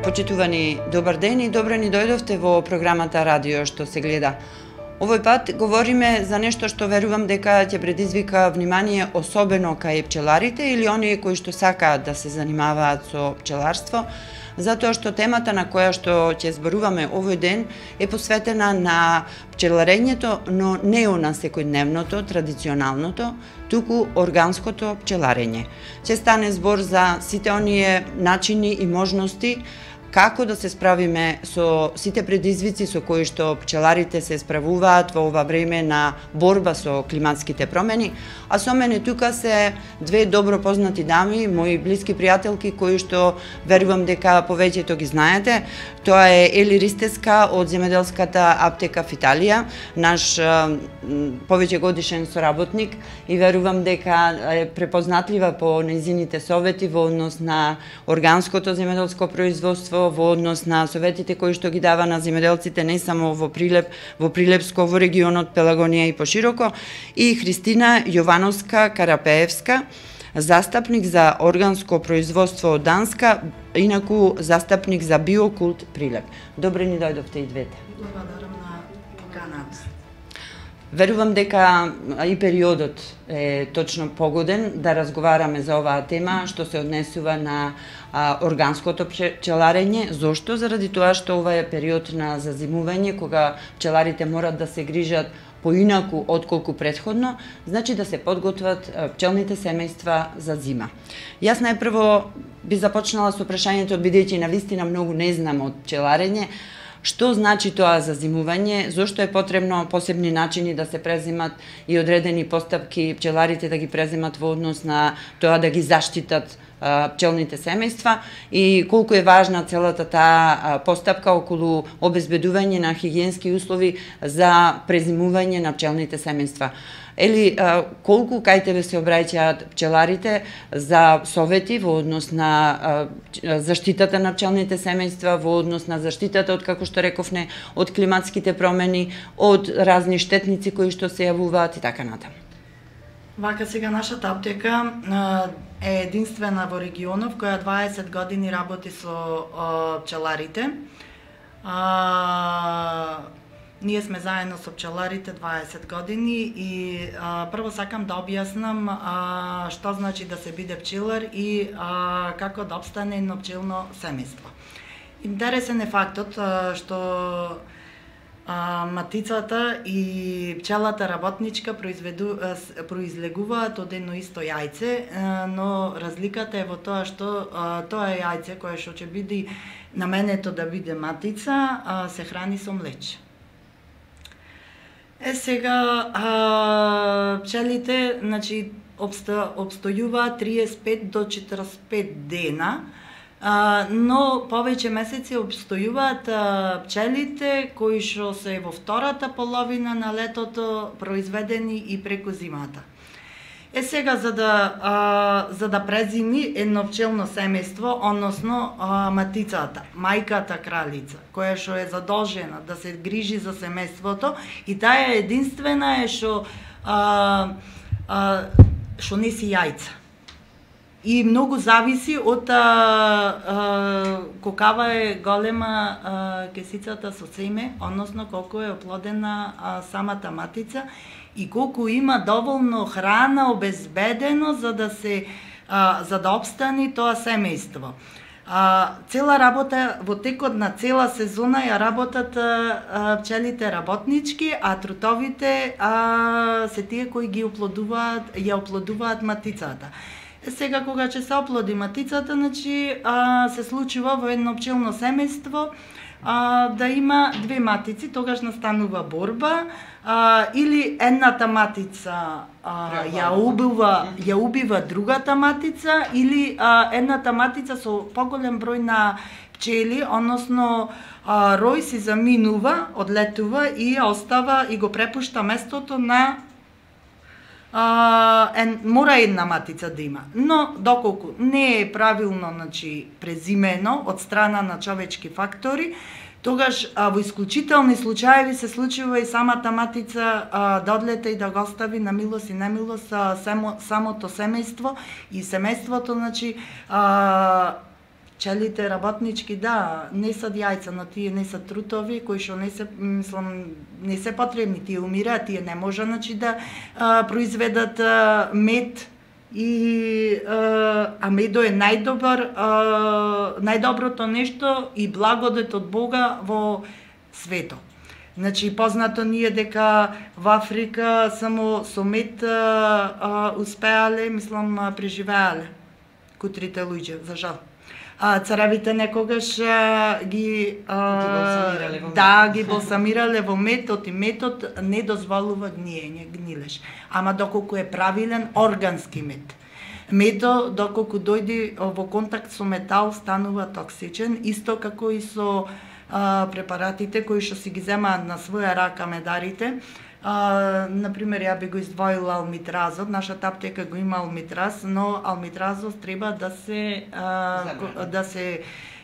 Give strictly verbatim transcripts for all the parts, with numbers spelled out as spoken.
Почитувани, добар ден и добро ни дојдовте во програмата Радио што се гледа. Овој пат говориме за нешто што верувам дека ќе предизвика внимание особено кај пчеларите или оние кои што сакаат да се занимаваат со пчеларство, затоа што темата на која што ќе зборуваме овој ден е посветена на пчеларењето, но не на секојдневното, традиционалното, туку органското пчеларење. Ќе стане збор за сите оние начини и можности како да се справиме со сите предизвици со кои што пчеларите се справуваат во ова време на борба со климатските промени, а со мене тука се две добро познати дами, мои блиски пријателки кои што верувам дека повеќето ги знаете. Тоа е Ели Ристеска од земјоделската аптека Фиталија, наш повеќе годишен соработник и верувам дека е препознатлива по нејзините совети во однос на органското земјоделско производство, во однос на советите кои што ги дава на земјоделците не само во Прилеп, во Прилепско, во регионот Пелагонија и пошироко, и Христина Јовановска Карапеевска, застапник за органско производство од Данска, инаку застапник за Биокулт Прилеп. Добре ни дојдовте и двете. Благодарам на поканата. Верувам дека и периодот е точно погоден да разговараме за оваа тема што се однесува на а, органското пчеларење. Зошто? Заради тоа што ова е период на зазимување, кога пчеларите морат да се грижат поинаку отколку претходно, значи да се подготват пчелните семејства за зима. Јас најпрво би започнала со прашањето, бидејќи навистина многу не знам од пчеларење, што значи тоа зазимување, зошто е потребно посебни начини да се презимат и одредени постапки пчеларите да ги презимат во однос на тоа да ги заштитат пчелните семејства и колку е важна целата таа постапка околу обезбедување на хигиенски услови за презимување на пчелните семејства. Ели, колку кај тебе се обраќаат пчеларите за совети во однос на заштитата на пчелните семејства, во однос на заштитата од, како што рековне, од климатските промени, од разни штетници кои што се јавуваат и така натаму? Вака сега нашата аптека е единствена во регионов која дваесет години работи со пчеларите. А, ние сме заедно со пчеларите дваесет години и а, прво сакам да објаснам а, што значи да се биде пчелар и а, како да обстане едно пчелно семејство. Интересен е фактот а, што А, матицата и пчелата работничка произведу, произлегуваат од едно исто јајце, но разликата е во тоа што а, тоа јајце кое што ќе биде наменето да биде матица, а, се храни со млече. Е сега а, пчелите, значи, обсто, обстојуваат триесет пет до четириесет пет дена, Uh, но повеќе месеци обстојуваат uh, пчелите кои што се во втората половина на летото произведени и преку зимата. Е сега за да uh, за да презими едно пчелно семејство, односно uh, матицата, мајката кралица, која што е задолжена да се грижи за семејството и таа е единствена е што uh, uh, што неси јајца. И многу зависи од а, а, колкава е голема а, кесицата со семе, односно колку е оплодена а, самата матица и колку има доволно храна обезбедено за да се а, за да обстани тоа семејство. А, цела работа во текот на цела сезона ја работат а, пчелите работнички, а трутовите а, се тие кои ги оплодуваат, ја оплодуваат матицата. Сега кога ќе се оплоди матицата, значи а, се случува во едно пчелно семејство а, да има две матици, тогаш настанува борба, а, или едната матица а, ја убива, ја убива другата матица, или а, едната матица со поголем број на пчели, односно а, рој си заминува, одлетува и ја остава и го препушта местото на Uh, ен, мора една матица да има. Но доколку не е правилно, значи, презимено од страна на човечки фактори, тогаш а, во исклучителни случаеви се случува и самата матица а, да одлета и да го остави на милост и немилост а, само, самото семејство и семејството, значи, а, пчелите работнички, да, не се јајца, но тие не се трутови кои што не се, мислам, не се потребни, тие умираат, тие не може, значи, да а, произведат а, мед и а, а медо е најдобар, а, најдоброто нешто и благодет од Бога во светот. Значи, познато ни е дека во Африка само со мед а, а, успеале, мислам, преживеале кутрите луѓе, за жал. А, царевите некогаш а, ги, а, ги во да, ги балсамирале во метод и метод не дозволува гниење, гнилеж. Ама доколку е правилен органски мед. Медо, доколку дојде во контакт со метал, станува токсичен, исто како и со а, препаратите кои што си ги земаат на своја рака медарите. А, например, ја би го издвоила алмитразот, нашата аптека го има алмитраз, но алмитразот треба да се а, да се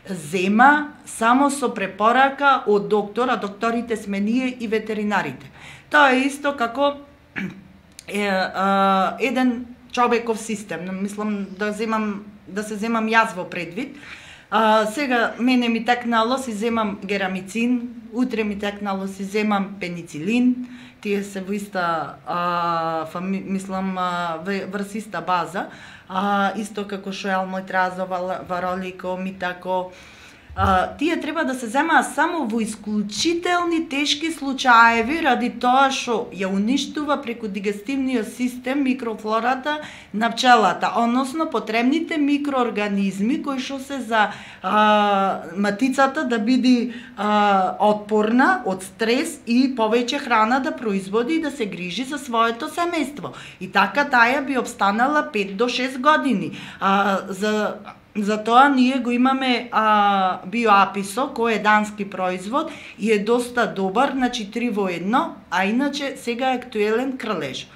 зема само со препорака од доктор, а докторите сме ние и ветеринарите. Тоа е исто како е, а, еден човеков систем. Мислам да земам да се земам јас во предвид. А, сега мене ми текнало си земам герамицин, утре ми текнало си земам пеницилин. Тие се во иста, а, фами, мислам, а, врз иста база, а, исто како што е алмитразо, варолико, митако. А, тие треба да се земаат само во исклучителни тешки случаеви, ради тоа што ја уништува преку дигестивниот систем микрофлората на пчелата, односно потребните микроорганизми кои што се за а, матицата да биде а, отпорна од стрес и повеќе храна да производи и да се грижи за своето семејство. И така таа би обстанала пет до шест години. А, за Затоа ние го имаме а, биоаписо, кој е дански производ и е доста добар, значи три во едно, а иначе сега е актуелен кралеж.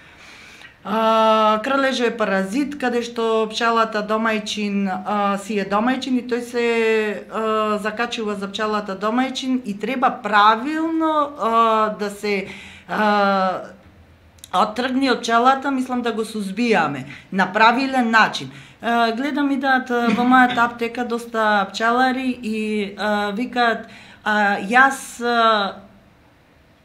А, кралежо е паразит, каде што пчелата домајчин а, си е домајчин и тој се а, закачува за пчелата домајчин и треба правилно а, да се а, оттргни од пчелата, мислам да го сузбијаме на правилен начин. Гледам и да во мојата аптека доста пчелари и а, викаат а, јас а,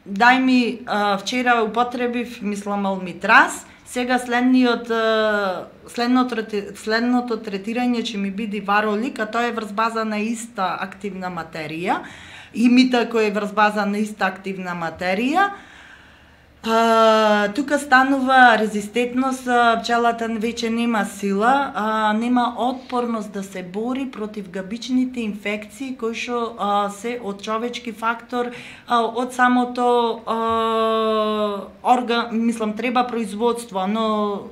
дај ми а, вчера употребив, мислам, алмитраз, сега следниот а, следното, следното третирање ќе ми биде варолик, а тоа е врз база на иста активна материја, и митако е врз база на иста активна материја. А, тука станува резистентност, пчелата веќе нема сила, а, нема отпорност да се бори против габичните инфекции кои што а, се од човечки фактор, а, од самото а, орган, мислам, треба производство, но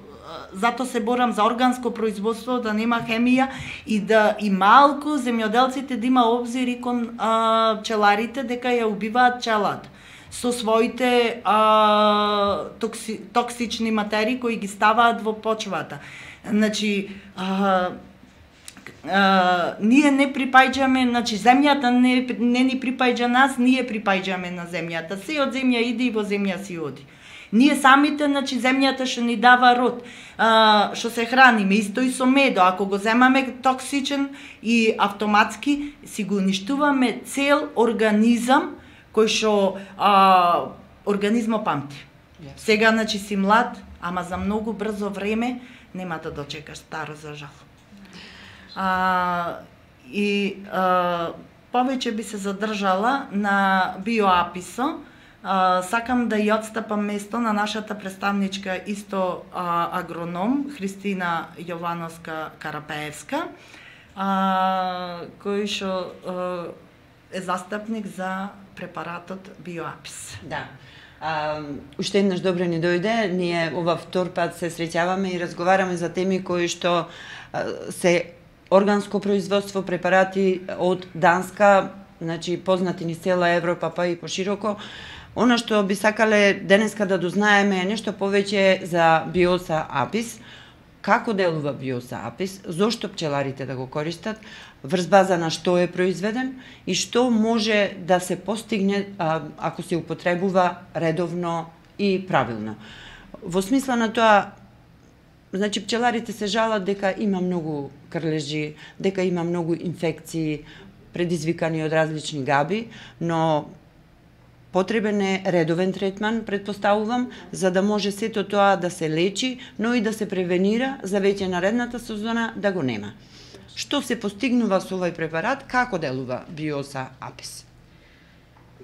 зато се борам за органско производство, да нема хемија и да и малку земјоделците да има обзир кон а, пчеларите дека ја убиваат пчелата со своите а, токси, токсични материи кои ги ставаат во почвата. Значи, а, а, ние не припаѓаме, значи земјата не, не ни припаѓа нас, ние припаѓаме на земјата. Се од земја иде и во земја си оди. Ние самите, значи земјата што ни дава род, а, што се храниме, исто и со медо. Ако го земаме токсичен и автоматски, си го уништуваме цел организам кој што а, организмо памти. Yes. Сега, значи, си млад, ама за многу брзо време нема да дочекаш старо, за жал. А, и а, повеќе би се задржала на биоаписо. А, сакам да ја отстапам место на нашата представничка, исто а, агроном, Христина Јовановска Карапеевска, а, кој што е застапник за препаратот биоапис. Да. А, уште еднаш добро ни дојде. Ние ова втор пат се среќаваме и разговараме за теми кои што а, се органско производство, препарати од Данска, значи познати ни цела Европа, па и пошироко. Она што би сакале денеска да дознаеме е нешто повеќе за Биоса апис. Како делува Биоса апис, зошто пчеларите да го користат, врз база на што е произведен и што може да се постигне а, ако се употребува редовно и правилно. Во смисла на тоа, Значи, пчеларите се жалат дека има многу крлежи, дека има многу инфекции предизвикани од различни габи, но потребен е редовен третман, предпоставувам, за да може сето тоа да се лечи, но и да се превенира за веќе наредната сезона да го нема. Што се постигнува со овој препарат, како делува Биоса Апис?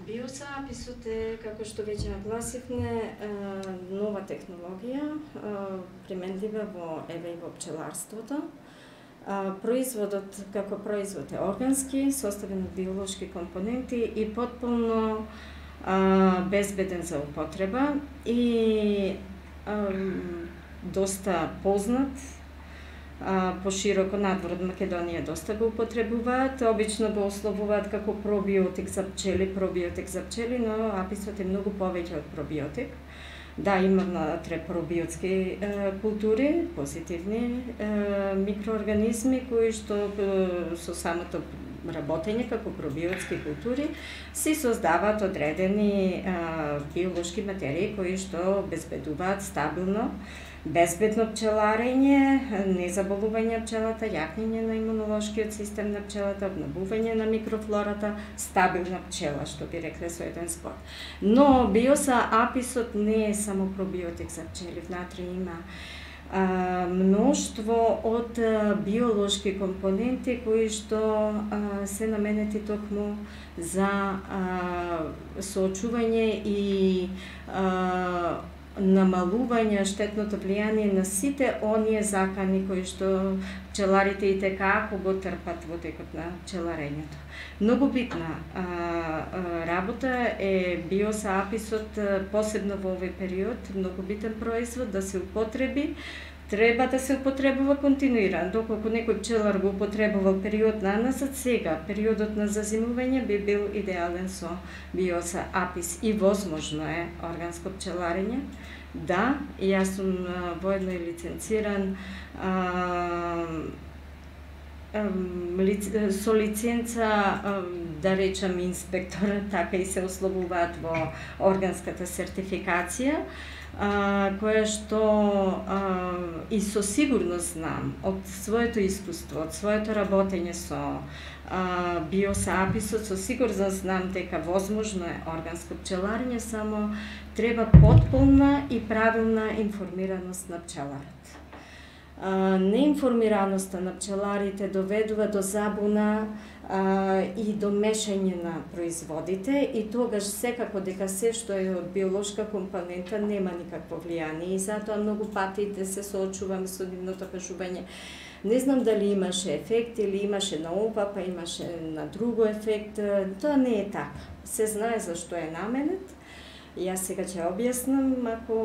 Биоса Аписот е, како што веќе нагласивме, нова технологија, применлива во еве и во пчеларството. Производот како производ е органски, составен од биолошки компоненти и потполно безбеден за употреба и доста познат, пошироко надвор од Македонија доста го употребуваат, обично го условуваат како пробиотик за пчели, пробиотик за пчели, но аписот е многу повеќе од пробиотик. Да, има внатре пробиотски е, култури, позитивни е, микроорганизми кои што е, со самото работење како пробиотски култури се создаваат одредени е, биолошки материи кои што обезбедуваат стабилно безбедно пчеларење, незаболување пчелата, јакнење на имунолошкиот систем на пчелата, обновување на микрофлората, стабилна пчела, што би рекле со еден збор. Но Биоса Аписот не е само пробиотик за пчели, внатре има а, мноштво од а, биолошки компоненти кои што а, се наменети токму за а, соочување и а, намалување штетното влијание на сите оние закани кои што пчеларите и текако го трпат во текот на пчеларењето. Многу битна а, а, работа е Биоса Аписот, посебно во овој период, многу битен производ да се употреби. Треба да се употребува континуирано, доколку некој пчелар го употребувал период на назад, сега периодот на зазимување би бил идеален со Биоса Апис и возможно е органско пчеларење. Да, јас сум воедно и лиценциран а, со лиценца, да речам, инспектор, така и се условуваат во органската сертификација, која што и со сигурност знам од своето искуство, од своето работење со Биоса Аписот, со сигурност знам дека возможно е органско пчеларење, само треба потполна и правилна информираност на пчеларот. Неинформираноста на пчеларите доведува до забуна а, и до мешање на производите и тогаш секако дека се што е од биолошка компонента нема никакво влијание и затоа многу пати се соочувам со нивното кажување. Не знам дали имаше ефект или имаше на ова, па имаше на друго ефект. Тоа не е така. Се знае зашто е наменет. Јас сега ќе објаснам ако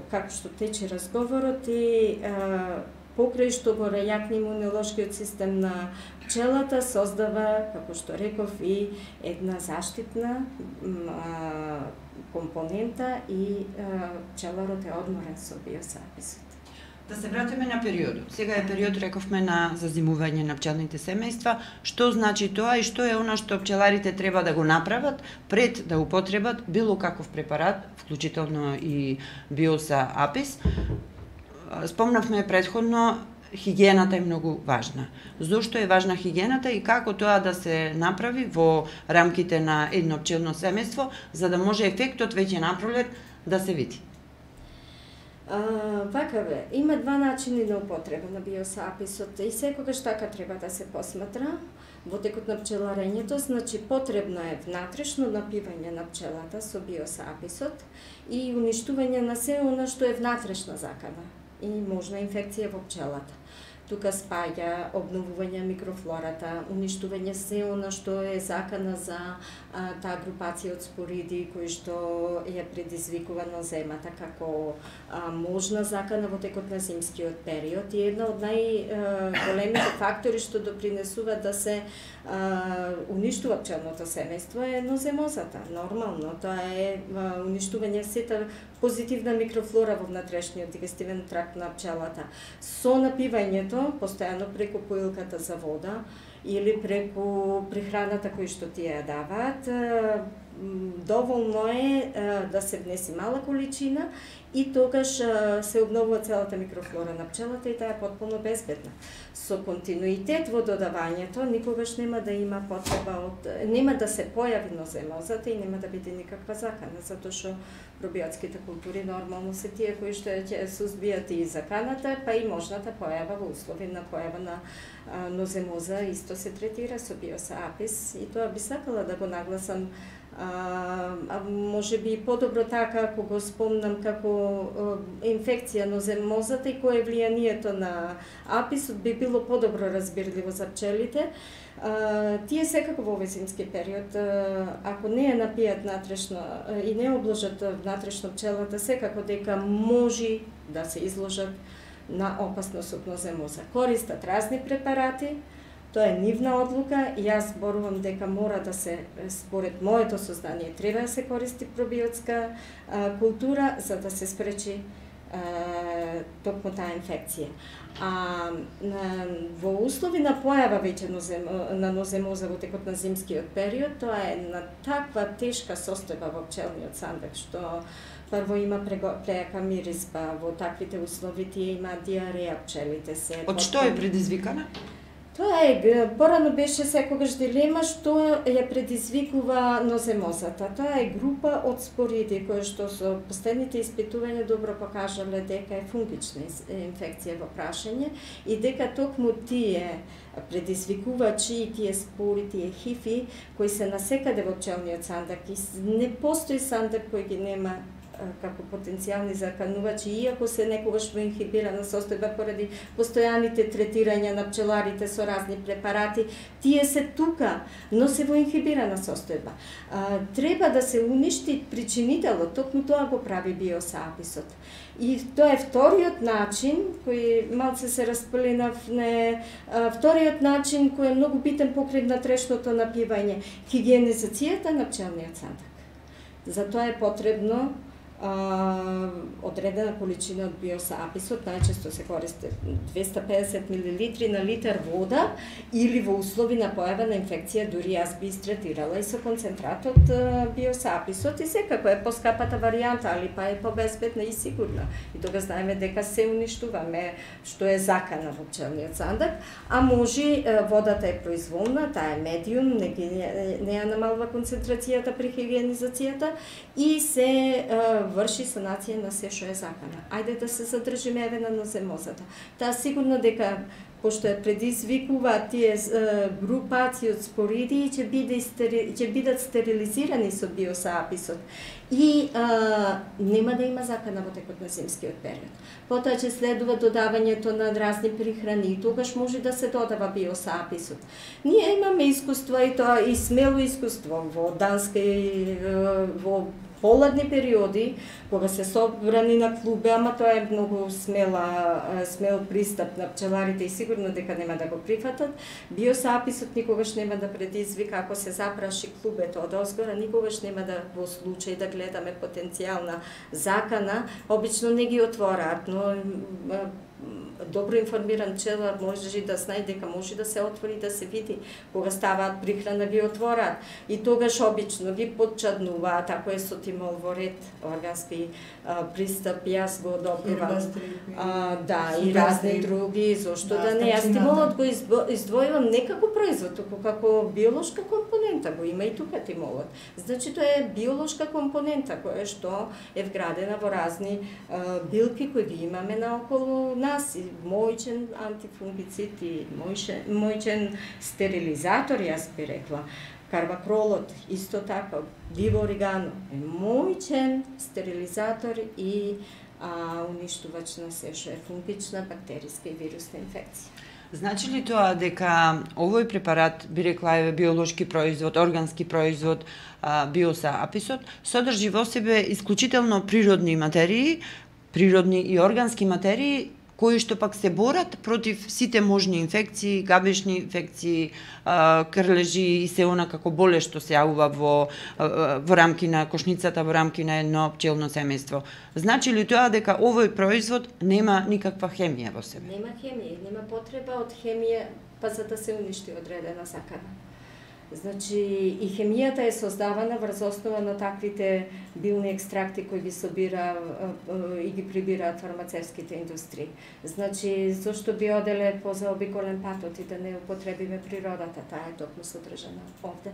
како што тече разговорот и а, покрај што го рејакне имунолошкиот систем на пчелата, создава, како што реков, и една заштитна а, компонента и а, пчеларот е одморен со Биоса Аписот. Да се вратиме на периодот. Сега е период, рековме, на зазимување на пчелните семејства. Што значи тоа и што е она што пчеларите треба да го направат пред да употребат било каков препарат, вклучително и Биоса Апис? Спомнавме претходно, хигиената е многу важна. Зошто е важна хигиената и како тоа да се направи во рамките на едно пчелно семејство, за да може ефектот веќе напролет да се види? А, вака бе, има два начини на употреба на Биоса Аписот и секогаш така треба да се посматра во текот на пчеларењето, значи потребно е внатрешно напивање на пчелата со Биоса Аписот и уништување на се она што е внатрешна закана и можна инфекција во пчелата. Тука спаѓа обновување микрофлората, уништување се она што е закана за а, таа групација од спориди кои што ја предизвикува на земата како а, можна закана во текот на зимскиот период и една од најголемите фактори што допринесува да се а, уништува пчелното семејство е ноземозата. Нормално, тоа е а, уништување сета позитивна микрофлора во внатрешниот дигестивен тракт на пчелата. Со напивањето постојано преку поилката за вода или преку прехраната кои што тие ја даваат, доволно е да се внеси мала количина и тогаш се обновува целата микрофлора на пчелата и таа е потполно безбедна. Со континуитет во додавањето никогаш нема да има потреба од нема да се појави ноземозата и нема да биде никаква закана, затоа што пробиотските култури нормално се тие кои што ќе сузбијат и заканата, па и можната појава во услови на појава на а, ноземоза исто се третира со Biosa apis и тоа би сакала да го нагласам. А, а може би подобро така ако го спомнам како а, инфекција ноземозата и кое е влијанието на аписот би било подобро разбирливо за пчелите. А, тие секако во овој зимски период, а, ако не ја напијат натрешно а, и не обложат натрешно пчелата, секако дека може да се изложат на опасност од ноземоза. Користат разни препарати. Тоа е нивна одлука и јас зборувам дека мора да се, според моето сознание, треба да се користи пробиотска а, култура за да се спречи а, токму таа инфекција. А на, во услови на појава веќе нозем, на ноземоза во текот на зимскиот период, тоа е на таква тешка состојба во пчелниот сандак, што прво има прејака миризба, во таквите услови тие има диареја пчелите се. Од што е предизвикана? Тоа е, порано беше секогаш дилема што ја предизвикува ноземозата. Тоа е група од спориди кои што со последните испитувања добро покажале дека е фунгична инфекција во прашање и дека токму тие предизвикувачи и тие спори, тие хифи кои се насекаде во пчелниот сандак и не постои сандак кој ги нема како потенцијални заканувачи, иако се некогаш во инхибирана состојба поради постојаните третирања на пчеларите со разни препарати, тие се тука, но се во инхибирана состојба. А, треба да се уништи причинителот, токму тоа го прави Biosa apis-от. И тоа е вториот начин, кој малце се распленав, не, а, вториот начин кој е многу битен покрај натрешното напивање, хигиенизацијата на пчелниот сандак. Затоа е потребно Uh, одредена количина од Biosa apis-от, најчесто се користи двеста и педесет милилитри на литар вода или во услови на појава на инфекција, дури јас би истретирала и со концентрат од uh, Biosa apis-от и секако е поскапата варијанта, али па е побезбедна и сигурна. И тога знаеме дека се уништуваме што е закана во пчелниот сандак, а може водата е произволна, таа е медиум, не, не ја намалува концентрацијата при хигиенизацијата и се uh, врши санација на се што е закана. Ајде да се задржиме еве на ноземозата. Таа сигурно дека пошто ја предизвикува тие е, групации од спориди ќе биде ќе бидат стерилизирани со Biosa apis-от и а, нема да има закана во текот на зимскиот период. Потоа ќе следува додавањето на разни прихрани и тогаш може да се додава Biosa apis-от. Ние имаме искуство и тоа и смело искуство во Данска и во поладни периоди, кога се собрани на клубе, ама тоа е многу смела, смел пристап на пчеларите и сигурно дека нема да го прифатат. Biosa apis-от никогаш нема да предизвика, ако се запраши клубето од озгора, никогаш нема да во случај да гледаме потенцијална закана, обично не ги отвораат, но добро информиран пчелар може да знае дека може да се отвори, да се види кога ставаат прихрана, ги отвораат и тогаш обично ги подчаднуваат, ако е со тимол во ред, органски а, пристап, јас го одобривам. А, да, и разни други, зошто да, да не. Јас тимолот го издвојувам не како производ, туку како биолошка компонента, го има и тука тимолот. Значи тоа е биолошка компонента која што е вградена во разни а, билки кои ги имаме наоколу нас, и мојчен антифунгицид и мојчен, мојчен стерилизатор, јас би рекла. Карвакролот, исто така, диво оригано е мојчен стерилизатор и а, уништувач на се што е фунгична, бактериска и вирусна инфекција. Значи ли тоа дека овој препарат, би рекла е биолошки производ, органски производ, Biosa apis-от, содржи во себе исклучително природни материи, природни и органски материи, кои што пак се борат против сите можни инфекции, габешни инфекции, крлежи и се она како болест што се јавува во, во рамки на кошницата, во рамки на едно пчелно семејство. Значи ли тоа дека овој производ нема никаква хемија во себе? Нема хемија, нема потреба од хемија па за да се уништи одредена закана. Значи, и хемијата е создавана врз основа на таквите билни екстракти кои ги собира и ги прибираат фармацевските индустрии. Значи, зошто би оделе по заобиколен патот и да не употребиме природата, таа е токму содржана овде.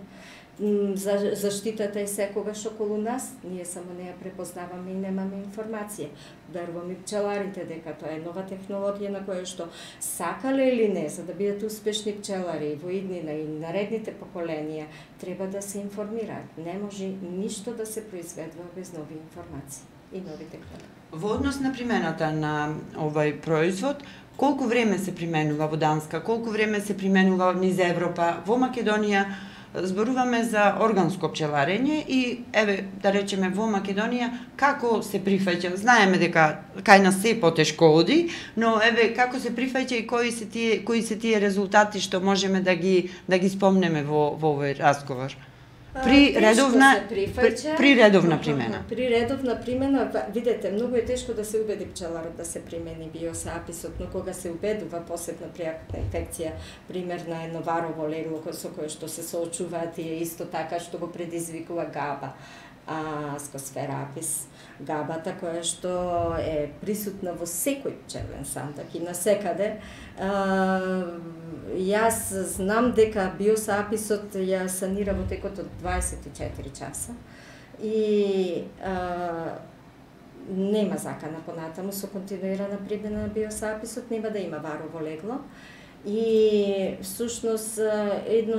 За заштитата е секогаш околу нас, ние само не ја препознаваме и немаме информација. Верувам и пчеларите дека тоа е нова технологија на која што сакале или не, за да бидат успешни пчелари во иднина и наредните поколенија, треба да се информираат. Не може ништо да се произведува без нови информации и нови технологии. Во однос на примената на овој производ, колку време се применува во Данска, колку време се применува низ Европа, во Македонија? Зборуваме за органско пчеларење и, еве, да речеме, во Македонија, како се прифаќа? Знаеме дека кај нас се потешко оди, но, еве, како се прифаќа и кои се тие, кои се тие резултати што можеме да ги, да ги спомнеме во, во овој разговор? При редовна, при, при редовна примена. При редовна примена, видете, многу е тешко да се убеди пчеларот да се примени биосаписот, но кога се убедува посебна пријакна инфекција, пример на едно варово легло со кое што се соочуваат и исто така што го предизвикува габа, а скосферапис, габата која што е присутна во секој пчелен сандак и насекаде. А, јас знам дека биосаписот ја санира во текот од дваесет и четири часа и а, нема закана понатаму со континуирана примена на биосаписот, нема да има варово легло. И всушност едно,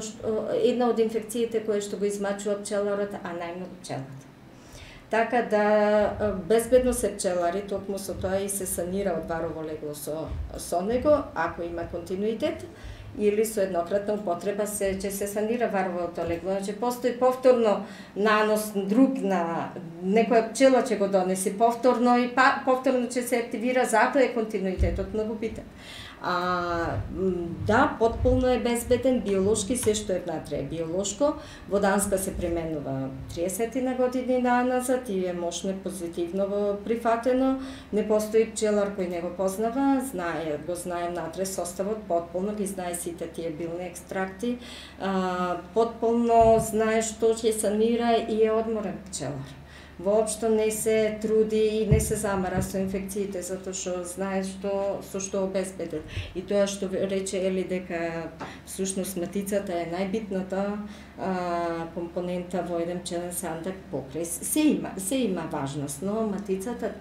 една од инфекциите кои што го измачува пчеларот, а најмногу пчелата. Така да безбедно се пчелари, токму со тоа и се санира од варово легло со, со него, ако има континуитет, или со еднократна употреба се ќе се санира варовото легло. Значи постои повторно нанос друг на некоја пчела ќе го донеси повторно и па, повторно ќе се активира, затоа е континуитетот многу битен. А, да, потполно е безбеден, биолошки, се што е внатре е биолошко. Во Данска се применува триесет на години назад и е мощно позитивно прифатено. Не постои пчелар кој не го познава, знае, го знае внатре составот, потполно ги знае сите тие билни екстракти, а, потполно знае што ќе санира и е одморен пчелар. Воопшто не се труди и не се замара со инфекциите, затоа што знае што со што обезбеден. И тоа што рече Ели дека всушност матицата е најбитната а, компонента во еден пчелен сандак покрај. Се има, се има важност, но матицата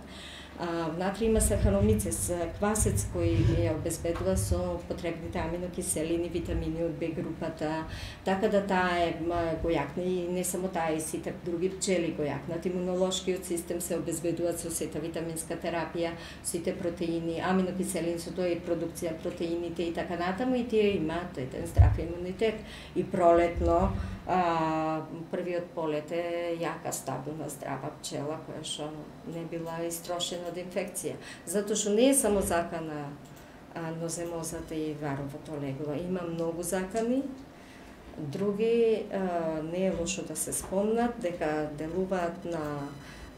А, внатре има сахаромицес, квасец кој ја обезбедува со потребните аминокиселини, витамини од Б групата, така да таа е гојакна и не само таа, и сите други пчели гојакнат. Имунолошкиот систем се обезбедуваат со сета витаминска терапија, сите протеини, аминокиселини, со тоа и продукција протеините и така натаму, и тие имаат еден здрав имунитет. И пролетно, а, првиот полет е јака, стабилна, здрава пчела која што не била истрошена од инфекција. Затоа што не е само закана а, ноземозата и варовото легло. Има многу закани, други а, не е лошо да се спомнат, дека делуваат на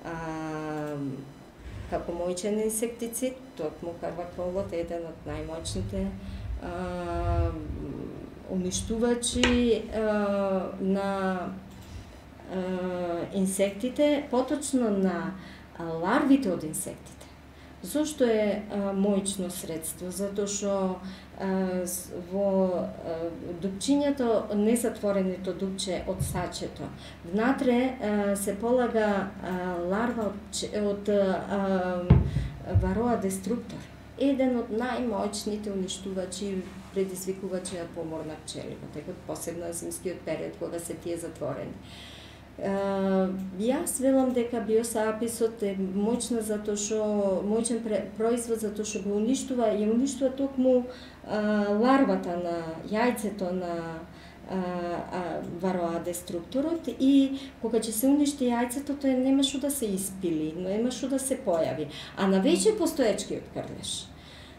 а, како мојчен инсектицид, токму карваколот е еден од најмоćните а, уништувачи а, на а, инсектите, поточно на ларвите од инсектите. Зошто е а, мојчно средство? Затоа што во а, дупчињето, незатвореното дупче од сачето, внатре а, се полага а, ларва од, од а, вароа деструктор. Еден од најмоćните уништувачи, предизвикувачи на помор на пчели, во текот посебно на зимскиот период кога се тие затворени. Uh, јас велам дека биосаписот е моćна затоа што моćен производ затоа што го уништува и уништува токму uh, ларвата на јајцето на uh, uh, вароа деструкторот, и кога ќе се уништи јајцето, тоа нема што да се испили, нема што да се појави, а на веќе постоечкиот крлеш.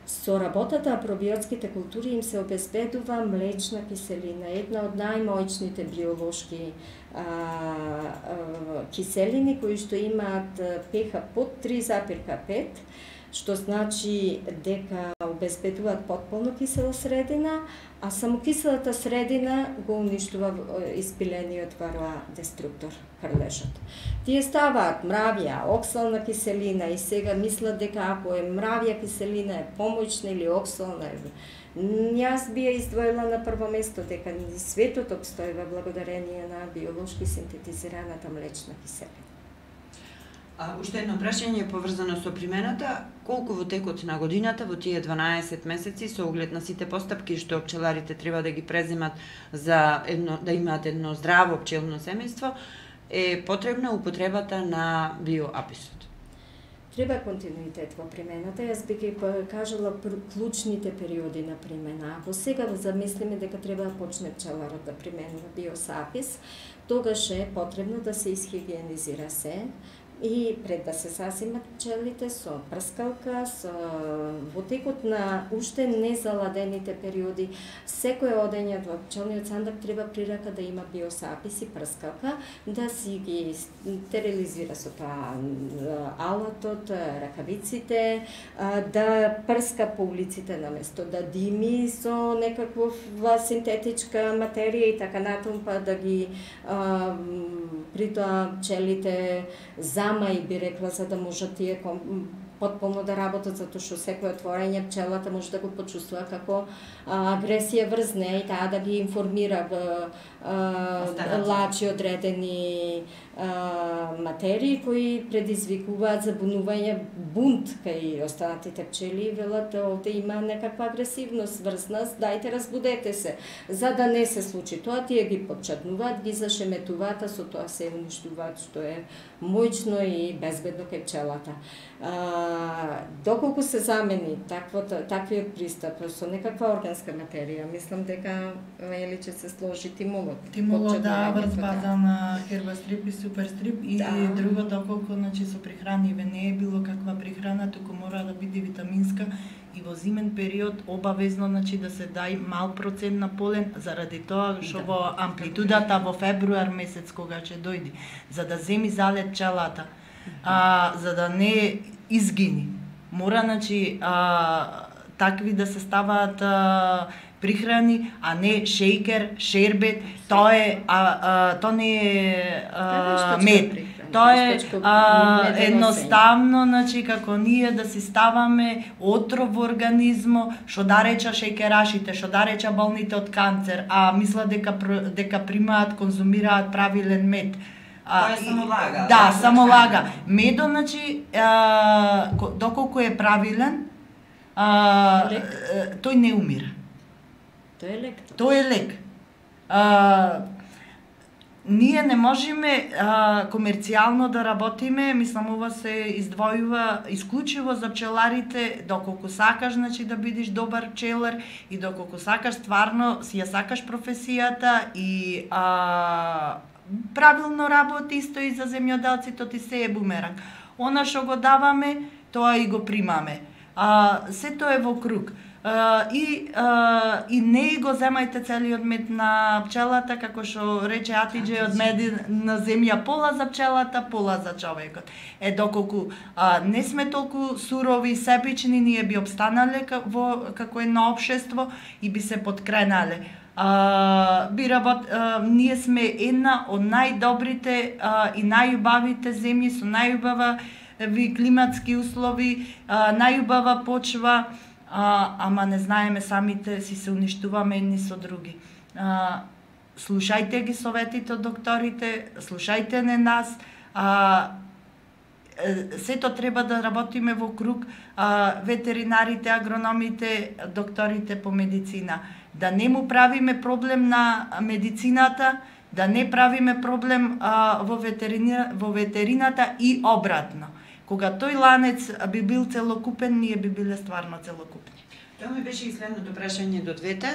Со работата на пробиотските култури им се обезбедува млечна киселина, една од најмоćните биолошки а, а, киселини кои што имаат pH под три запирка пет, што значи дека обезбедуваат потполно кисела средина, а само киселата средина го уништува испилениот вароа-деструктор, хрлежот. Тие ставаат мравја, оксална киселина и сега мислат дека ако е мравја киселина е помоćна или оксална е. Јас би ја издвоила на прво место дека светот обстојува благодарение на биолошки синтетизираната млечна киселина. А уште едно прашање поврзано со примената, колку во текот на годината, во тие дванаесет месеци, со оглед на сите постапки што пчеларите треба да ги преземат за едно, да имаат едно здраво пчелно семејство, е потребна употребата на биоаписот? Треба континуитет во примената. Јас би ги кажала клучните периоди на примена. Ако сега замислиме дека треба да почне пчеларот да применува биосапис, тогаш е потребно да се исхигиенизира се, и пред да се сасимат пчелите со прскалка, со во текот на уште незаладените периоди, секој одење во пчелниот сандак треба при рака да има биосапис и прскалка, да си ги стерилизира со тоа алатот, ракавиците, да прска по улиците наместо да дими со некаква синтетичка материја и така натаму, па да ги а, при тоа пчелите за и би рекла, за да можат тие потполно да работат, затоа што секој отворање пчелата може да го почувствува како а, агресија врз неа и таа да ги информира а, лачи одредени а, материи кои предизвикуваат забунување, бунт кај останатите пчели и велат овде има некаква агресивност врз нас, дајте разбудете се. За да не се случи тоа, тие ги подчатнуваат, ги зашеметуваат, а со тоа се уништуваат, што е моќно и безбедно кај пчелата. А, доколку се замени таквата, таквиот пристап со некаква органска материја, мислам дека или ќе се сложи тимолот. Тимолот, да, врз база на хербастрип и суперстрип и да. Друго, доколку значи со прихраниве не е било каква прихрана, туку мора да биде витаминска и во зимен период обавезно значи да се дај мал процент на полен, заради тоа што во амплитудата во февруар месец кога ќе дојде, за да земи залет пчелата, а, за да не изгини. Мора значи а, такви да се ставаат а, прихрани, а не шејкер, шербет, тоа е а, а, тоа не е а, мед. Тоа е а, едноставно, значи како ние да си ставаме отров во организмо, што да реча шејкерашите, што да реча болните од канцер, а мислат дека дека примаат, конзумираат правилен мед. Тоа е само лага. Да, само лага. Медо, значи, а, доколку е правилен, а, тој не умира. Тој е лек. Тој е лек. А, ние не можеме а, комерцијално да работиме, мислам ова се издвојува исклучиво за пчеларите, доколку сакаш значи да бидеш добар пчелар и доколку сакаш стварно си ја сакаш професијата и а, правилно работи исто и за земјоделците, ти се е бумеранг. Она што го даваме, тоа и го примаме. А, сето е во круг. Uh, и, uh, и не го земајте целиот мед на пчелата, како што рече Атиџе, од мед на земја пола за пчелата, пола за човекот. Е, доколку uh, не сме толку сурови и себични, ние би обстанале во, како едно општество и би се подкренале. Uh, би работ, uh, ние сме една од најдобрите uh, и најубавите земји со најубави климатски услови, uh, најубава почва, А, ама не знаеме самите, си се уништуваме едни со други. А, слушајте ги советите од докторите, слушајте не нас, а, сето треба да работиме во круг, а, ветеринарите, агрономите, докторите по медицина. Да не му правиме проблем на медицината, да не правиме проблем а, во, ветерина, во ветерината и обратно. Кога тој ланец би бил целокупен, ние би биле стварно целокупни. Тоа ми беше и следното прашање до двете.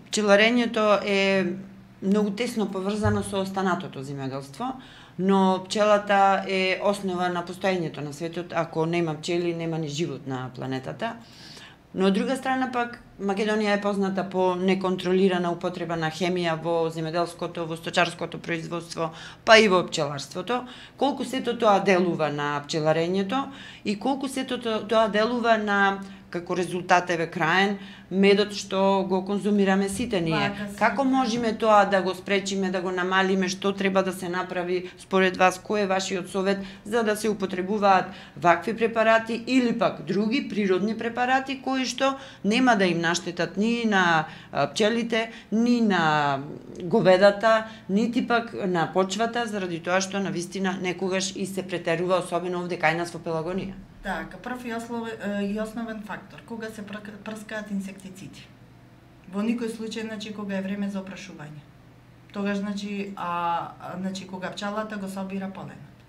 Пчеларењето е многу тесно поврзано со останатото земјоделство, но пчелата е основа на постоењето на светот. Ако нема пчели, нема ни живот на планетата. Но од друга страна пак Македонија е позната по неконтролирана употреба на хемија во земјоделското, во сточарското производство, па и во пчеларството. Колку сето тоа делува на пчеларењето и колку сето тоа делува на, како резултат еве краен, медот што го конзумираме сите ние. Како можеме тоа да го спречиме, да го намалиме, што треба да се направи според вас, кој е вашиот совет за да се употребуваат вакви препарати или пак други природни препарати кои што нема да им наштетат ни на пчелите, ни на говедата, нити пак на почвата, заради тоа што навистина некогаш и се претерува, особено овде кај нас во Пелагонија. Така, прв и основен фактор, кога се прскаат инсектициди. Во никој случај, значи, кога е време за опрашување. Тогаш, значи, а, значи кога пчелата го собира поленот.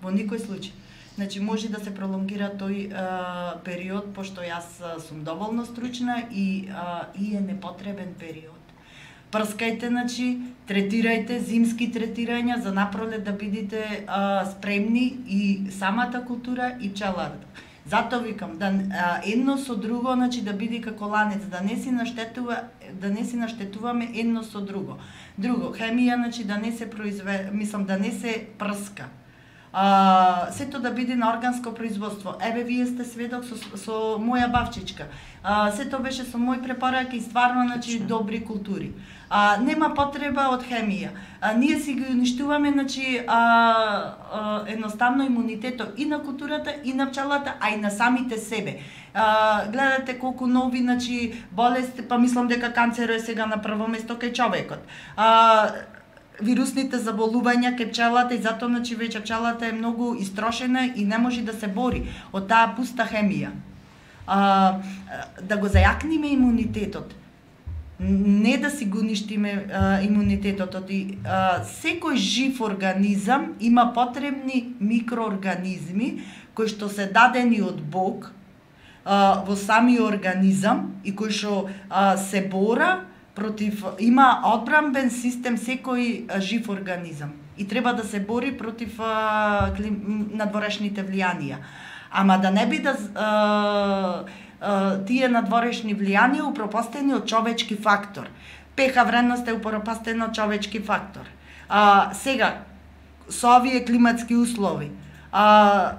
Во никој случај. Значи, може да се пролонгира тој а, период, пошто јас сум доволно стручна и, а, и е непотребен период. Прскајте, значи, третирајте зимски третирања за напролет да бидете а, спремни и самата култура и пчеларата. Затоа викам да а, едно со друго, значи да биде како ланец, да не си наштетува, да не си наштетуваме едно со друго. Друго, хемија, значи да не се произве, мислам да не се прска. А, сето да биде на органско производство. Еве, вие сте сведок со, со моја бавчичка. А, сето беше со мој препораки и стварно, значи, добри култури. А, нема потреба од хемија. А, ние си ги уништуваме, значи, а, а, едноставно имунитетот и на културата, и на пчелата, а и на самите себе. А, гледате колку нови, значи, болести, па мислам дека канцерот е сега на прво место кај човекот. А, вирусните заболувања кај пчелата и затоа, значи, веќе пчелата е многу истрошена и не може да се бори од таа пуста хемија. А, да го зајакниме имунитетот, не да си го уништиме а, имунитетот. И, а, секој жив организам има потребни микроорганизми кои што се дадени од Бог а, во самиот организам и кои што а, се бора против, има одбранбен систем секој а, жив организам и треба да се бори против а, клим, надворешните влијанија. Ама да не биде а, тие надворешни влијанија упропастени од човечки фактор. пеха вредност е упропастена од човечки фактор. А, сега, со овие климатски услови, а,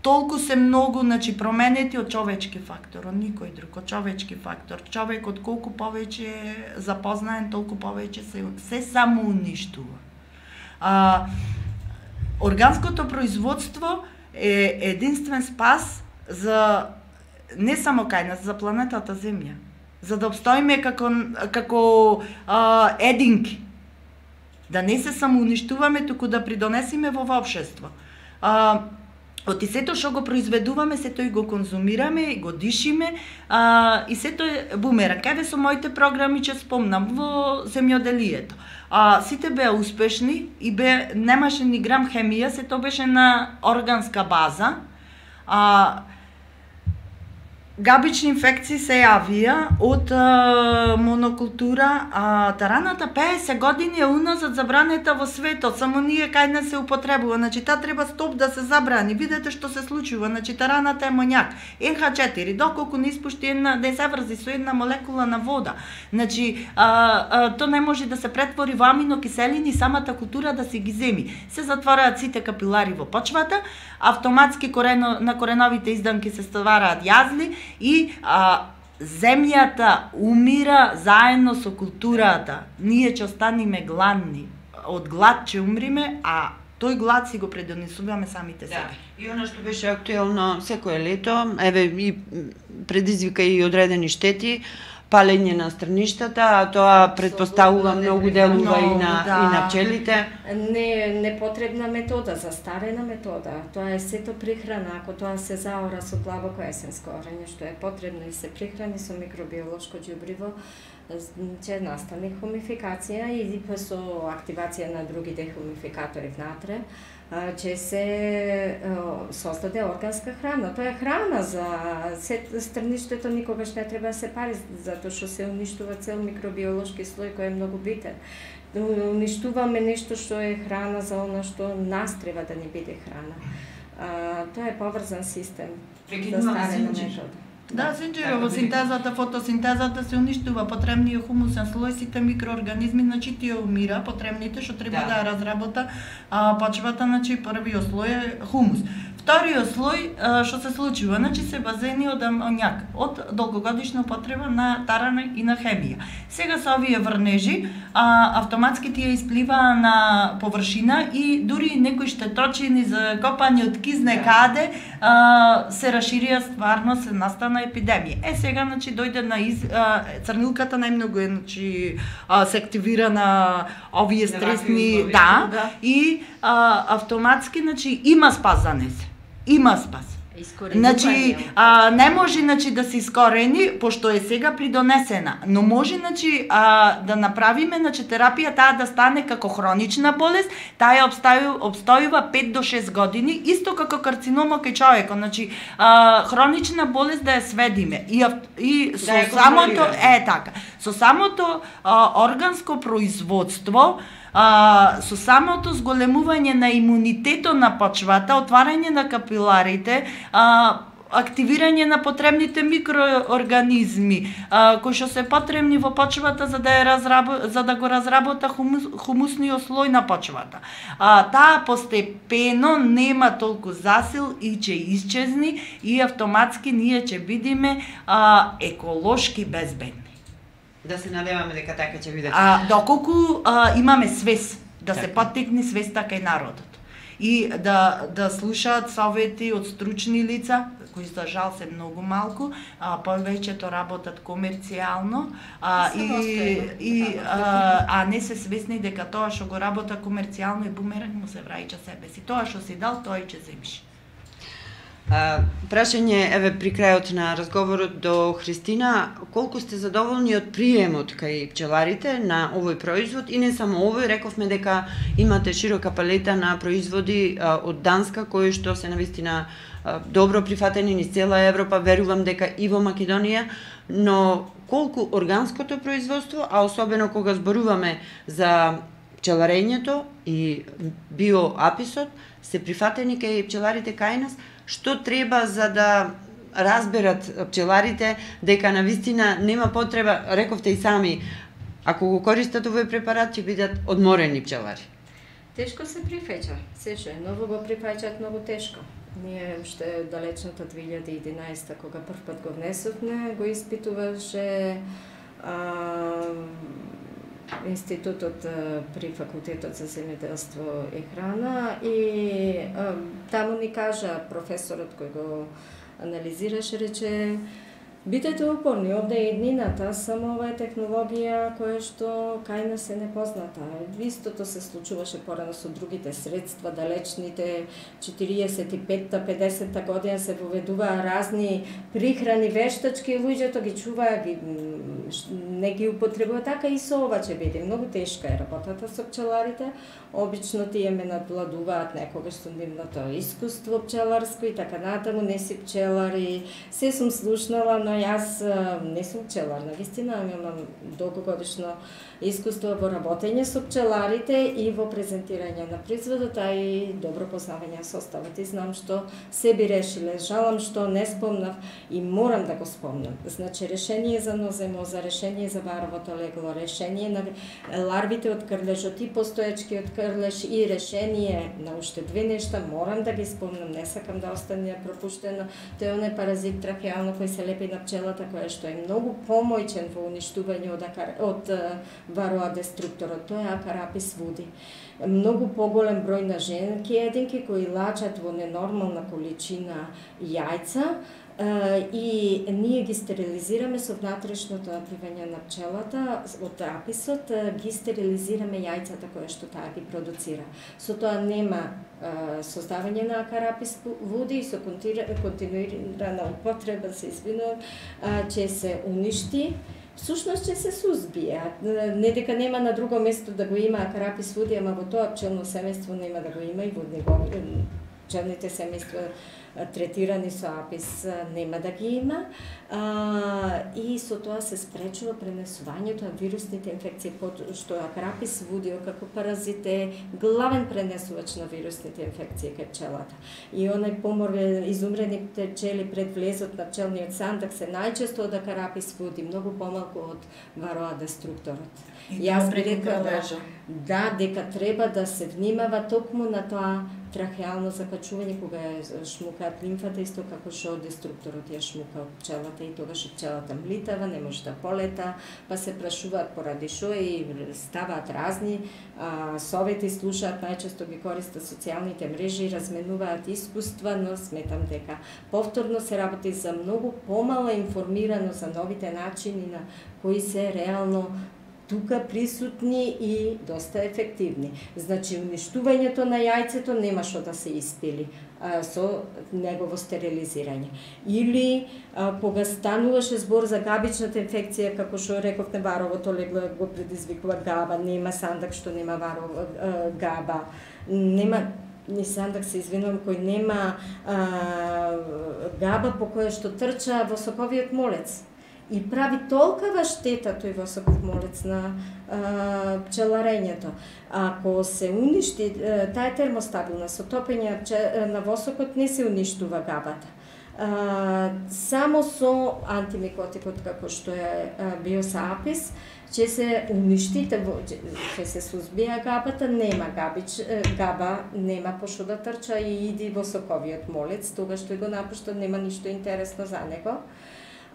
толку се многу, значи, променети од човечки фактор, од никој друг, од човечки фактор. Човекот колку повеќе е запознаен, толку повеќе се, се само уништува. А, органското производство е единствен спас за не само кај нас, за планетата Земја, за да обстоиме како како а, единки. Да не се само уништуваме, туку да придонесиме во општество. А, Од и сето што го произведуваме, сето и го конзумираме, и го дишиме, а, и сето е бумеранг. Еве со моите програми ќе спомнам во земјоделието. А, сите беа успешни и бе, немаше ни грам хемија, сето беше на органска база. А, Габични инфекции се јавија од а, монокултура, а тараната пеесет години е уназад забранета во светот, само ние кај не се употребува. Значи, та треба стоп да се забрани. Видете што се случува. Значи, тараната е моњак. ен ха четири, доколку не испушти една, да се врзи со една молекула на вода. Значи, а, а, то не може да се претвори во аминокиселини, самата култура да се ги земи. Се затвораат сите капилари во почвата, автоматски корено, на кореновите изданки се ствараат јазли, и а, земјата умира заедно со културата. Ние ќе останеме гладни. Од глад ќе умриме, а тој глад си го предонесуваме самите себе. Да. И она што беше актуелно секое лето, еве и предизвика и одредени штети, палење на страништата, а тоа предпоставува многу делува и на да. и на пчелите. Не непотребна метода, застарена метода. Тоа е сето прихрана, ако тоа се заора со длабоко есенско орење, што е потребно и се прихрани со микробиолошко ѓубриво, ќе настане хумификација и со активација на другите хумификатори внатре, ќе се создаде органска храна. Тоа е храна за страништето, никогаш не треба да се пари, затоа што се уништува цел микробиолошки слој кој е многу битен. Уништуваме нешто што е храна за она што нас треба да ни биде храна. А, тоа е поврзан систем. Прекинуваме Синџир. Да, Синџир, во синтезата, фотосинтезата се уништува потребниот хумусен слој, сите микроорганизми, значи тие умира, потребните што треба да, да ја разработа а, почвата, значи првиот слој е хумус. Вториот слој што се случува, значи се базени од амоњак, од долгогодишна употреба на тарана и на хемија. Сега со овие врнежи, а, автоматски тие испливаа на површина и дури некои штеточини за копање од кизне каде а, се расширија, стварно се настана епидемија. Е сега значи дојде на из, а, црнилката најмногу е значи а, се активира на овие стресни, да, да, и а, автоматски значи има спас за незе. Има спас. Значи, а, не може значи да се искорени, пошто е сега придонесена, но може значи а, да направиме значи терапија таа да стане како хронична болест, таа обстојува, обстојува пет до шест години, исто како карцинома кај човекот, значи а, хронична болест да ја сведиме и и со да самото е така, со самото а, органско производство, А, со самото зголемување на имунитетот на почвата, отварање на капиларите, а, активирање на потребните микроорганизми, а, кои што се потребни во почвата за да, ја разрабо, за да го разработа хумус, хумусниот слој на почвата. А, таа постепено нема толку засил и ќе исчезни и автоматски ние ќе бидиме а, еколошки безбедни. Да се надеваме дека така ќе биде. А доколку а, имаме свест, да така. Се поттикне свеста кај народот. И да да слушаат совети од стручни лица, кои за жал се многу малку, а повеќето работат комерцијално, а и и а, а не се свесни дека тоа што го работа комерцијално и бумеранг му се враќа себе си. Тоа што си дал, тоа и ќе земиш. А, прашање, еве при крајот на разговорот до Христина, колку сте задоволни од приемот кај пчеларите на овој производ и не само овој, рековме дека имате широка палета на производи а, од Данска кои што се навистина а, добро прифатени низ цела Европа, верувам дека и во Македонија, но колку органското производство, а особено кога зборуваме за пчеларењето и биоаписот, се прифатени кај пчеларите кај нас, што треба за да разберат пчеларите дека навистина нема потреба, рековте и сами, ако го користат овој препарат ќе бидат одморени пчелари? Тешко се прифаќа, се што е ново го прифаќаат многу тешко. Ние уште далечната две илјади и единаесета кога прв пат го внесовме, го испитуваше а, институтот при факултетот за земјоделство и храна и а, таму ни кажа професорот кој го анализираше, рече бидете упорни, овде е еднината, само ова е технологија која што кај нас е непозната. Истото се случуваше порано со другите средства, далечните четириесет и петта педесетта година се воведуваа разни прихрани вештачки, луѓето ги чуваа, ги, не ги употребува, така и со ова ќе биде. Многу тешка е работата со пчеларите. Обично тие ме надвладуваат некогаш со нивното искуство пчеларско и така натаму, не си пчелари. Се сум слушнала, но јас не сум пчелар, навистина имам долгогодишно искуство во работење со пчеларите и во презентирање на производот, а и добро познавање составот и знам што се би решиле. Жалам што не спомнав и морам да го спомнам. Значи решение за ноземоза, решение за варовото легло, решение на ларвите од крлежот и постоечки од крлеж и решение на уште две нешта морам да ги спомнам, не сакам да остане пропуштено. Тој оне паразит трахеално кој се лепи на пчелата, кој што е многу помојчен во уништување од, акар... од вароа деструкторот, тоа е Акарапис вуди. Многу поголем број на женки единки кои лачат во ненормална количина јајца и ние ги стерилизираме со внатрешното напивање на пчелата од аписот, ги стерилизираме јајцата кои што таа ги продуцира. Со тоа нема создавање на Акарапис вуди и со континуирана употреба, се извинувам, ќе се уништи. Всушност ќе се сузбие. Не дека нема на друго место да го има Акарапис вуди, ама во тоа пчелно семејство нема да го има и во него пчелните семејства третирани со апис нема да ги има, а, и со тоа се спречува пренесувањето на вирусните инфекции, што акарапис водио како паразит е главен пренесувач на вирусните инфекции кај пчелата. И онај помор изумрените пчели пред влезот на пчелниот сандак се најчесто од акарапис води, многу помалку од вароа деструкторот. И јас би рекла да, да, дека треба да се внимава токму на тоа трахеално закачување кога ја шмукаат лимфата, исто како што деструкторот ја шмука од пчелата и тогаш пчелата млитава, не може да полета, па се прашуваат поради што и ставаат разни а, совети, слушаат, најчесто ги користат социјалните мрежи, разменуваат искуства, но сметам дека повторно се работи за многу помала информирано за новите начини на кои се реално тука присутни и доста ефективни. Значи, уништувањето на јајцето нема што да се испили а, со негово стерилизирање. Или, а, кога стануваше збор за габичната инфекција, како што рековте, варовото легло го предизвикува габа, нема сандак што нема варова а, габа, нема ни сандак, се извинувам, кој нема а, габа по која што трча во соковиот молец. И прави толкова штета тој восоков молец на а, пчеларењето. Ако се уништи, таа е термостабилна, со топење на восокот не се уништува габата. А, само со антимикотикот како што е Biosa apis ќе се уништи, ќе се сузбија габата, нема габич, габа нема пошто да трча и иди восоковиот молец, тогаш тој го напушта, нема ништо интересно за него.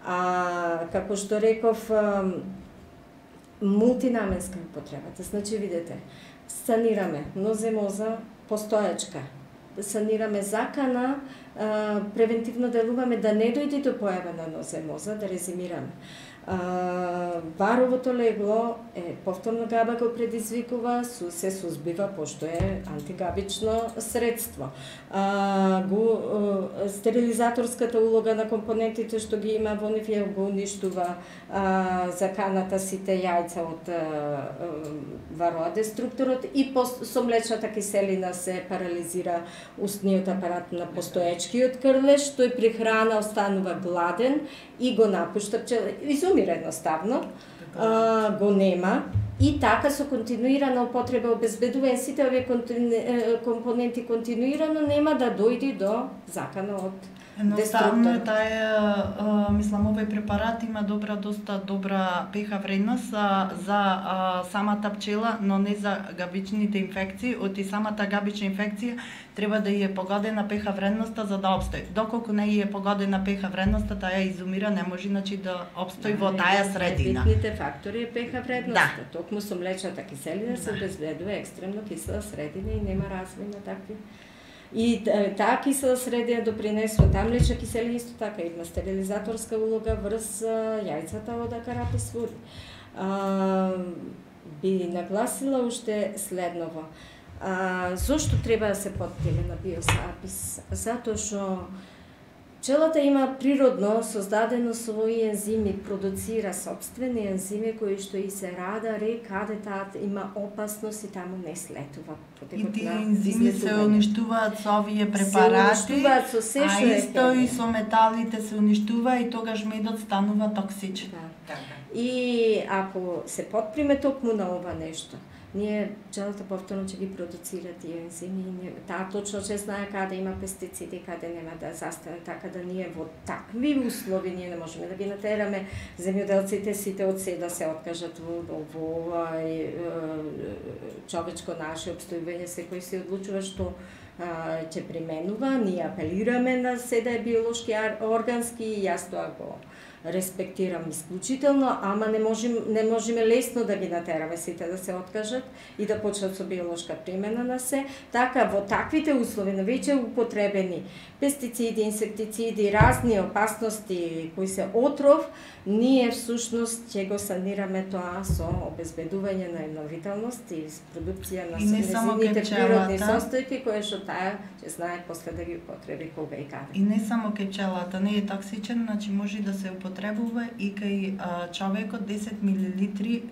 А, како што реков, мултинаменска употребата. Значи, видете, санираме ноземоза постоечка, санираме закана, а, превентивно делуваме да не дојде до појава на ноземоза, да резимираме. А, варовото легло е повторно габа го предизвикува, се сузбива пошто е антигабично средство. А, го, а, стерилизаторската улога на компонентите што ги има во нив ја го уништува а, заканата сите јајца од вароа деструкторот и пос, со млечната киселина се парализира устниот апарат на постоечкиот крлеш, тој при храна останува гладен и го напушта пчела. Изумира едноставно, а, го нема и така со континуирана употреба обезбедување сите овие компоненти континуирано нема да дојде до закана од Едноставно е таа, мислам, овој препарат има добра, доста добра pH вредност а, за а, самата пчела, но не за габичните инфекции. Од и самата габична инфекција треба да ја е погодена pH вредноста за да обстои. Доколку не ја е погодена pH вредноста, таа ја изумира, не може значи да обстои во таа средина. Битните фактори е pH вредноста. Да. Токму со млечната киселина се обезбедува екстремно кисела средина и нема развој на такви. И таа кисела средина допринесува, таа млечна киселина исто така има стерилизаторска улога врз јајцата од акарапис води. А, би нагласила уште следново. А, зошто треба да се поттеле на Biosa apis? Затоа што пчелата има природно создадено своји ензими, продуцира собствени ензими кои што и се радари каде таа има опасност и таму не слетува. И тие ензими се уништуваат со овие препарати, се уништуваат со се што а исто и со металите се уништува и тогаш медот станува токсичен. Да. И ако се потприме токму на ова нешто, ние пчелата повторно ќе ги продуцира тие ензими, таа точно ќе знае каде има пестициди, каде нема да застане, така да ние во такви услови ние не можеме да ги натераме земјоделците сите од се да се откажат во ова човечко наше обстојување, секој се одлучува што ќе применува, ние апелираме на се да е биолошки органски и јас тоа го респектирам исклучително, ама не можем не можеме лесно да ги натераме сите да се откажат и да почнат со биолошка примена на се. Така во таквите услови на веќе употребени пестициди, инсектициди, разни опасности кои се отров, ние всушност ќе го санираме тоа со обезбедување на едновителност и продукција на незините природни состојки кои што таа ќе знае после да ги употреби кога и каде. И не само кај пчелата не е токсичен, значи може да се употребува и кај а, човекот десет милилитри.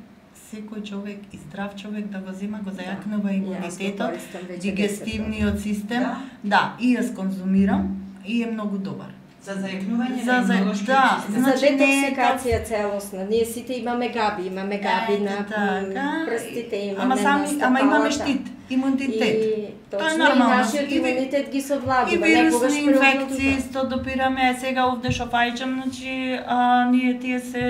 Секој човек и здрав човек да го зема, го зајакнува да, имунитетот, дигестивниот систем. Да. Да, и јас конзумирам и е многу добар. За зајакнување за, на имунолошки да, систем. За значи, детоксикација целосна. Ние сите имаме габи, имаме габи Ете, на така. прстите, имаме Ама сами, на ама имаме стапалата. штит, имунитет. И Тоа е точно, и нормално. нашиот И ви- имунитет ги И совладува. вирусни инфекции исто допираме, е сега овде што фаќам, значи а, ние тие се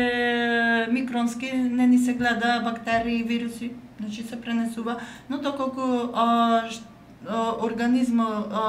микронски, не ни се гледа бактерии, вируси, значи се пренесува, но доколку а, ш- а, организмот а,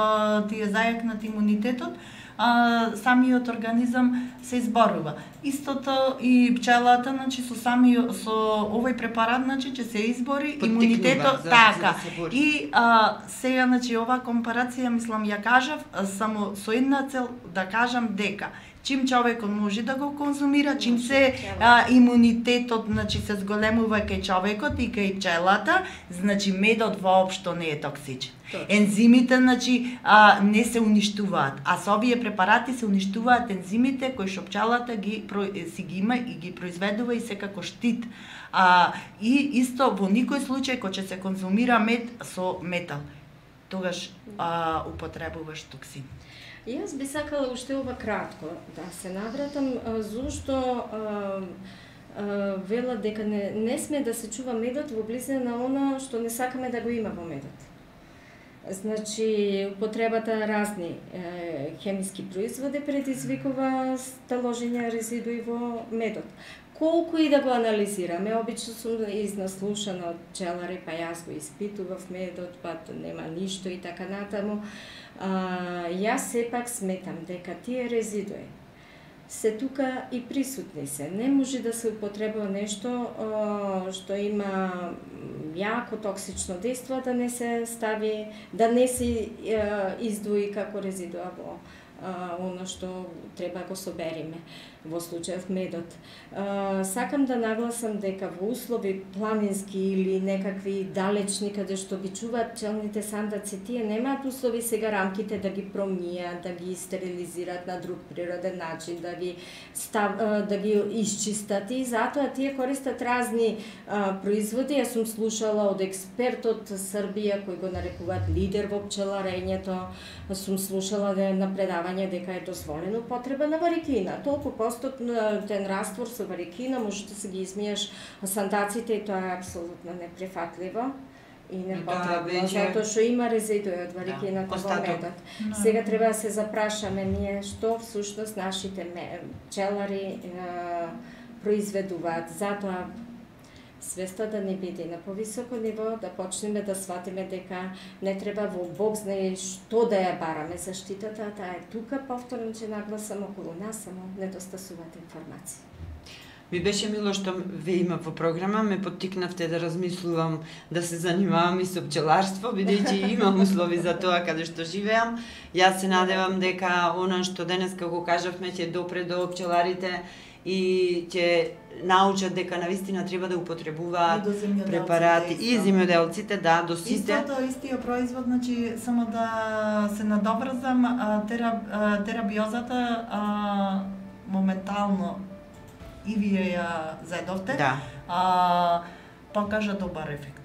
ти е зајакнат имунитетот, а, самиот организам се изборува. Истото и пчелата, значи со самиот со овој препарат, значи ќе се избори Поттикнува имунитетот за- така. за да се бори. И а, сега, значи, оваа компарација, мислам, ја кажав, а, само со една цел да кажам дека чим човекот може да го конзумира, чим се а, имунитетот, значи, се зголемува кај човекот и кај пчелата, значи медот воопшто не е токсичен. Точно. Ензимите, значи, а, не се уништуваат, а со овие препарати се уништуваат ензимите кои што пчелата ги про- си ги има и ги произведува и се како штит. А, и исто во никој случај кога ќе се конзумира мед со метал, тогаш а, употребуваш токсин. И јас би сакала уште ова кратко да се навратам а, зошто а, а, велат дека не, не сме да се чува медот во близина на она што не сакаме да го има во медот. Значи, употребата разни е, хемиски производи предизвикува таложење резидуи во медот. Колку и да го анализираме, обично сум изнаслушана од пчелари, па јас го испитував медот, па нема ништо и така натаму. А, јас сепак сметам дека тие резидуи се тука и присутни се. Не може да се употребува нешто а, што има јако токсично дејство, да не се стави, да не се а, издвои како резидуа во а, оно што треба го собериме, во случајот медот. А, сакам да нагласам дека во услови планински или некакви далечни каде што ги чуваат пчелните сандаци, тие немаат услови сега рамките да ги промијат, да ги стерилизираат на друг природен начин, да ги став, а, да ги исчистат и затоа тие користат разни а, производи. Јас сум слушала од експерт од Србија кој го нарекуваат лидер во пчеларењето, сум слушала да на предавање дека е дозволено употреба на варикина. Толку постотен раствор со варикина, можеш да се ги измиеш сандаците и тоа е апсолутно неприфатливо и непотребно, веќе- затоа што има резидуи од варикината Да, во остаток. медот. Сега треба да се запрашаме ние што всушност нашите ме- пчелари е, произведуваат. Затоа свеста да не биде на повисоко ниво, да почнеме да сватиме дека не треба во Бог знае што да ја бараме заштитата, таа е тука, повторно че нагласам околу нас, само недостасуваат информации. Ми беше мило што ве има во програма, ме поттикнавте да размислувам да се занимавам и со пчеларство, бидејќи имам услови за тоа каде што живеам. Јас се надевам дека она што денеска го кажавме ќе допре до пчеларите и ќе научат дека навистина треба да употребуваат И до земјоделците препарати исто. и земјоделците, да, до сите. Истото, истиот производ, значи, само да се надобрзам, а, тера, а, терабиозата а, моментално и вие ја заедовте, Да. а, покажа добар ефект.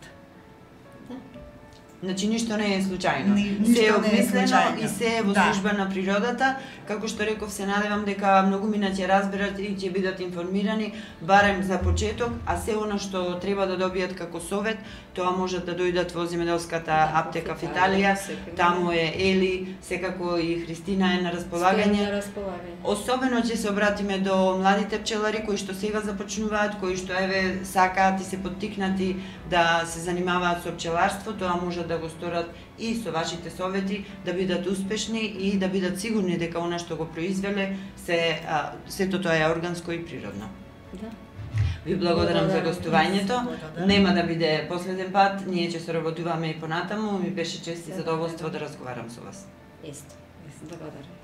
Значи ништо не е случајно. Ни- ништо се е не е обмислено случајно. и се е во Да. служба на природата. Како што реков, се надевам дека многу мина ќе разберат и ќе бидат информирани, барем за почеток, а се она што треба да добијат како совет, тоа можат да дојдат во земјоделската аптека в Италија. Таму е Ели, секако и Христина е на располагање. На располагање. Особено ќе се обратиме до младите пчелари кои што сега започнуваат, кои што еве сакаат и се поттикнати да се занимаваат со пчеларство, тоа може да го сторат и со вашите совети, да бидат успешни и да бидат сигурни дека она што го произвеле се а, сето тоа е органско и природно. Да. Ви благодарам за Благодарам. гостувањето. Благодарам. Нема да биде последен пат, ние ќе соработуваме и понатаму. Ми беше чест и задоволство да разговарам со вас. Исто. Благодарам.